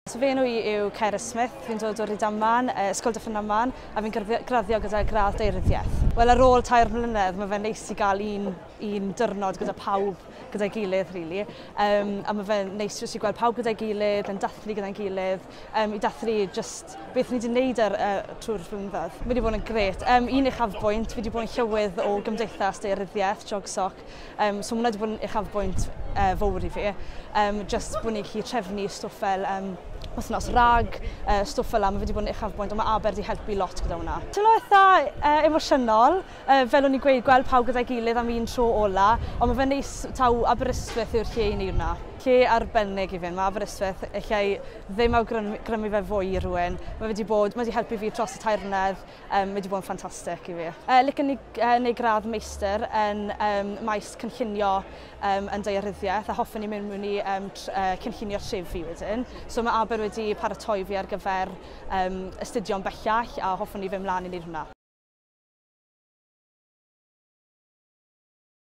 So fy enw i yw Cerys Smith, fi'n dod o Rydaman, Ysgol Dyffryn Aman, a fi'n graddio gyda gradd daearyddiaeth. Wel, ar ôl 3 mlynedd, mae fe'n neis i gael un diwrnod gyda pawb gyda'i gilydd, really. A mae fe'n neis jyst i gweld pawb gyda'i gilydd, yn dathlu gyda'n gilydd, i dathlu just beth ni wedi gwneud trwy'r flynyddoedd. Mae wedi bod yn grêt. Un uchafbwynt, fi wedi bod yn llywydd o Gymdeithas Daearyddiaeth, GeogSoc, so mae hwnna wedi bod yn uchafbwynt fawr i fi. Just bod ni'n gallu trefnu stwff fel wythnos RAG, stwff fel 'na, mae wedi bod yn uchafbwynt, ond mae Aber wedi helpu lot gyda hwnna. Teimlo eitha emosiynol, fel o'n i'n gweud, gweld pawb gyda'i gilydd am un tro ola, ond mae fe'n neis taw Aberystwyth yw'r lle i wneud hwnna. Lle arbennig i fynd, mae Aberystwyth, allai ddim awgrymu fe fwy i rhywun. Mae wedi helpu fi dros y 3 mlynedd, mae wedi bod yn ffantastig i fi. Licen i neud gradd meistr yn maes cynllunio yn daearyddiaeth a hoffen i mynd mewn i cynllunio trefi wedyn. So mae Aber wedi paratoi fi ar gyfer astudio'n bellach a hoffwn i fynd mlaen i wneud hwnna.